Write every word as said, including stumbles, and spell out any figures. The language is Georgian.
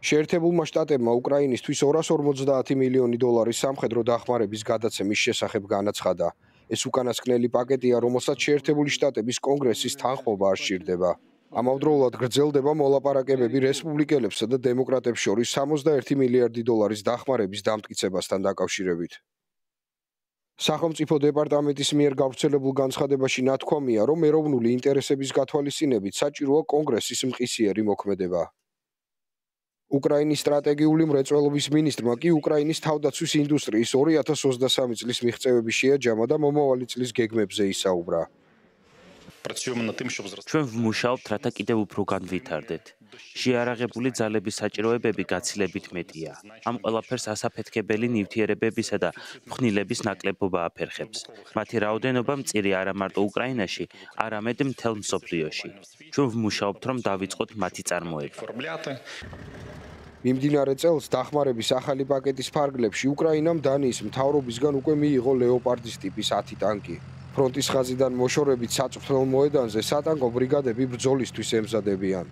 შეერთებულმა შტატებმა უკრაინისთვის ორას ორმოცდაათი მილიონი დოლარის სამხედრო დახმარების გადაცემის შესახებ განაცხადა. ეს უკანასკნელი პაკეტია, რომელსაც შეერთებული შტატების კონგრესის თანხმობა არ სჭირდება. ამავდროულად გრძელდება მოლაპარაკებები რესპუბლიკელებსა და დემოკრატებს შორის სამოცდაერთი მილიარდი დოლარის დახმარების დამტკიცებასთან დაკავშირებით. სახელმწიფო დეპარტამენტის მიერ გავრცელებულ განცხადებაში ნათქვამია, რომ ეროვნული ინტერესების გათვალისწინებით საჭიროა კონგრესის მყისიერი მოქმედება. უკრაინის სტრატეგიული მრეწველობის მინისტრმა კი უკრაინის თავდაცვის ინდუსტრიის ორი ათას ოცდასამი წლის მიღწევები შეაჯამა და მომავალი წლის გეგმებზე ისაუბრა. ჩვენ ვმუშაობთ, რათა კიდევ უფრო განვითარდეთ. შეიარაღებული ძალების საჭიროებები გაცილებით მეტია. ამ ყველაფერს ასაფეთქებელი ნივთიერებებისა და ფხვნილების ნაკლებობა აფერხებს. მათი რაოდენობა მწირი არა მარტო უკრაინაში, არამედ მთელ მსოფლიოში. ჩვენ ვმუშაობთ, რომ დავიწყოთ მათი წარმოება. მიმდინარე წელს დახმარების ახალი პაკეტის ფარგლებში უკრაინამ დანიის მთავრობისგან უკვე მიიღო ლეოპარდის ტიპის ათი ტანკი. ფრონტის ხაზიდან მოშორებით საწვრთნელ მოედანზე სატანკო ბრიგადები ბრძოლისთვის ემზადებიან.